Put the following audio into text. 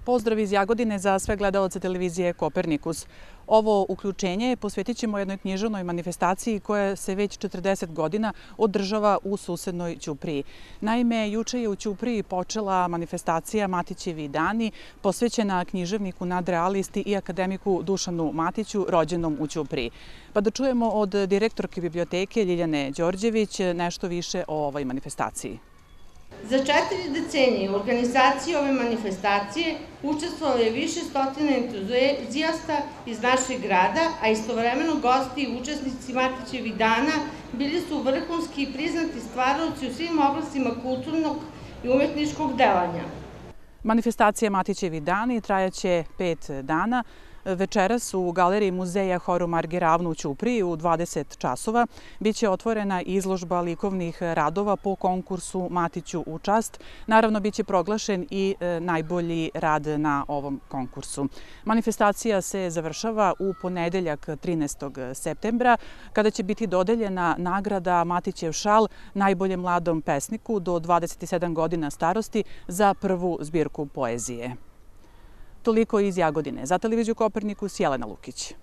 Pozdrav iz Jagodine za sve gledalce televizije Kopernikus. Ovo uključenje posvetit ćemo jednoj književnoj manifestaciji koja se već 40 godina održava u susednoj Ćupriji. Naime, juče je u Ćupriji počela manifestacija Matićevi dani, posvećena književniku nadrealisti i akademiku Dušanu Matiću, rođenom u Ćupriji. Pa da čujemo od direktorke biblioteke Ljiljane Đorđević nešto više o ovoj manifestaciji. Za 4 decenije u organizaciji ove manifestacije učestvovalo je više stotina entuzijasta iz našeg grada, a istovremeno gosti i učesnici Matićevih dana bili su vrhunski i priznati stvaraoci u svim oblastima kulturnog i umetničkog delanja. Manifestacija Matićevi dani trajaće 5 dana. Večeras u galeriji muzeja Horu Marge Ravno u Ćupriji u 20 časova biće otvorena izložba likovnih radova po konkursu Matiću u čast. Naravno, biće proglašen i najbolji rad na ovom konkursu. Manifestacija se završava u ponedeljak 13. septembra, kada će biti dodeljena nagrada Matićev šal najboljem mladom pesniku do 27 godina starosti za prvu zbirku poezije. Toliko iz Jagodine. Za televiziju Kopernikus, Jelena Lukić.